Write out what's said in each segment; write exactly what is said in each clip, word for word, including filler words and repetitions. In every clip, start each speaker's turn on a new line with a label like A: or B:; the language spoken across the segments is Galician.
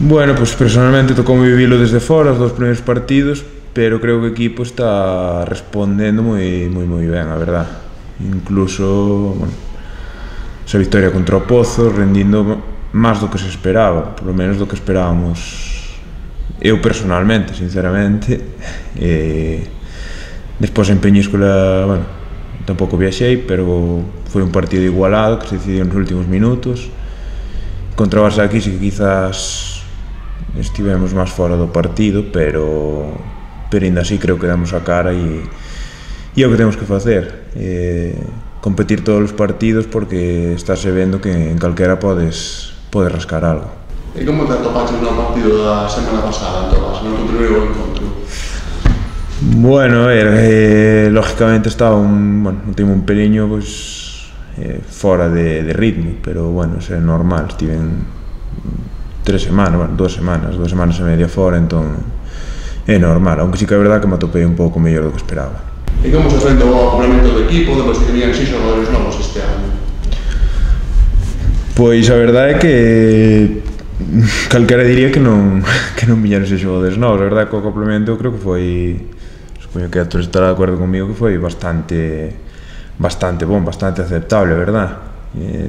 A: Bueno, pues personalmente tocou vivilo desde fora, os dos primeiros partidos, pero creo que o equipo está respondendo moi, moi, moi ben, a verdad. Incluso, bueno, esa victoria contra o Pozo, rendindo máis do que se esperaba, polo menos do que esperábamos eu personalmente, sinceramente. E despois en Peñíscola, bueno, tampouco viaxei, pero foi un partido igualado que se decidiu nos últimos minutos. Contra o Barça aquí sí que quizás estivemos máis fora do partido, pero pero ainda así creo que damos a cara e e é o que temos que facer, eh, competir todos os partidos, porque estáse vendo que en calquera podes podes rascar algo.
B: E como te atopaches no partido da semana pasada, en todas, no teu primeiro encontro?
A: Bueno, a ver, eh, lógicamente estaba un, bueno, un time un peliño, pues, eh, fora de, de ritmo, pero bueno, é normal, estiven tres semanas, bueno, dos semanas, dos semanas e media fora, entón é normal, aunque sí que é verdad que me atopei un pouco mellor do que esperaba.
B: E como se frente ao complemento do equipo, depois que tenían seis xogadores novos este ano?
A: Pois a verdade é que calquera diría que non que non viñeron seis xogadores novos, a verdade é que o complemento eu creo que foi, supoño que a todos estará de acordo comigo, que foi bastante bastante bon, bastante aceptable, a verdad. É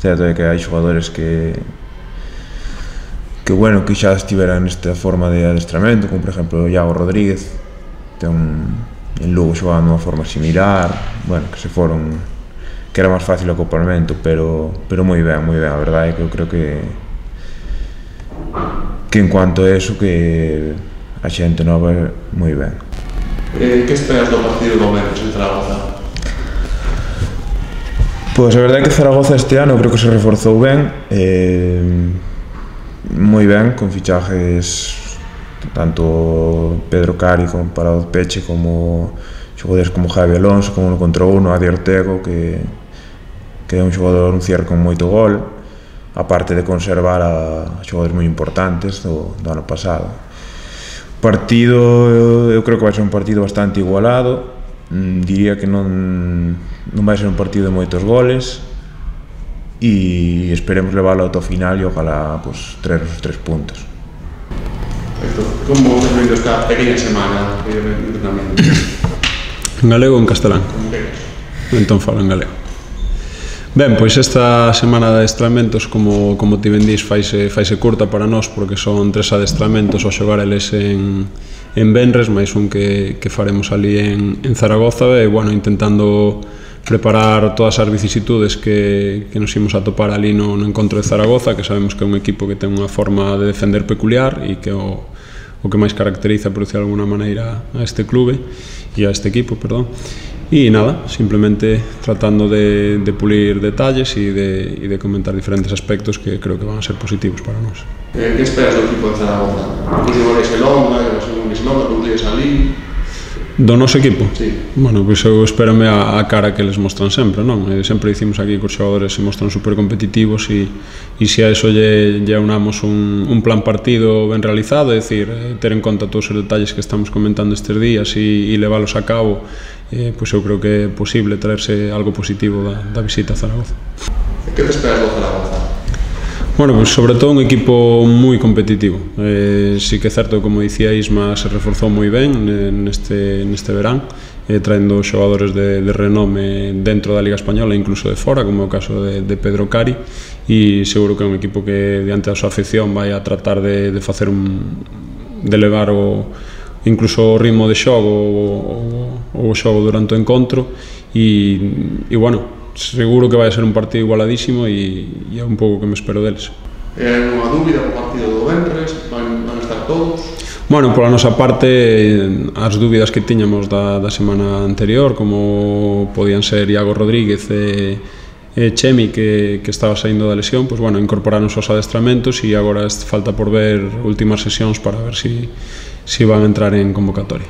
A: certo é que hai xogadores que que bueno, que xa estiveran nesta forma de adestramento, como por exemplo Iago Rodríguez, ten en Lugo xogando de unha forma similar, bueno, que se foron, que era máis fácil o acoplamento, pero pero moi ben, moi ben, a verdade é que eu creo que que en cuanto a eso, que a xente nova é moi ben.
B: Eh, que esperas do partido do Venres en Zaragoza?
A: Pois a verdade é que Zaragoza este ano creo que se reforzou ben, eh, moi ben, con fichajes tanto Pedro Cari como Parado de Peche, como xogadores como Javi Alonso, como no contra uno, Adi Ortego, que, que é un xogador, un cierre con moito gol, aparte de conservar a xogadores moi importantes do, do ano pasado. O partido, eu creo que vai ser un partido bastante igualado, mm, diría que non, non vai ser un partido de moitos goles, e esperemos leválo ao final e ojalá pues, traer os tres puntos.
B: Perfecto. Como has vivido esta pequena semana de entrenamiento?
C: En galego ou en castelán?
B: Como queres.
C: Entón falo en galego. Ben, pois esta semana de adestramentos, como, como ti ben dís, faise, faise curta para nós, porque son tres adestramentos ao xogar eles en, en Venres, máis un que, que faremos ali en, en Zaragoza, e, bueno, intentando preparar todas as vicisitudes que, que nos imos a topar ali no, no encontro de Zaragoza, que sabemos que é un equipo que ten unha forma de defender peculiar e que o, o que máis caracteriza, por decir de alguna maneira, a este clube e a este equipo, perdón. E nada, simplemente tratando de, de pulir detalles e de, e de comentar diferentes aspectos que creo que van a ser positivos para nós.
B: Eh, que esperas do equipo de Zaragoza? Que se volese longa, que se volese longa, que volese ali?
C: Do noso equipo?
B: Sí.
C: Bueno, pois eu espérame a, a cara que les mostran sempre, non? E sempre dicimos aquí que os xogadores se mostran super competitivos e, e se a eso lle, lle unamos un, un plan partido ben realizado, é dicir, ter en conta todos os detalles que estamos comentando estes días e, e leválos a cabo, eh, pois eu creo que é posible traerse algo positivo da, da visita a Zaragoza.
B: Que te esperas do Zaragoza?
C: Bueno, pues sobre todo un equipo moi competitivo. Eh, sí que é certo, como dicía Isma, se reforzou moi ben neste, neste verán, eh, traendo xogadores de, de renome dentro da Liga Española e incluso de fora, como é o caso de, de Pedro Cari, e seguro que é un equipo que diante da súa afición vai a tratar de, de facer un, de elevar o, incluso o ritmo de xogo ou o xogo durante o encontro e, e bueno, seguro que vai a ser un partido igualadísimo e, e é un pouco que me espero deles.
B: É unha dúbida o partido do Venres? Van, van estar todos?
C: Bueno, pola nosa parte, as dúbidas que tiñamos da, da semana anterior, como podían ser Iago Rodríguez e, e Chemi, que, que estaba saindo da lesión, pues, bueno, incorporaron os adestramentos e agora falta por ver últimas sesións para ver si, si van a entrar en convocatoria.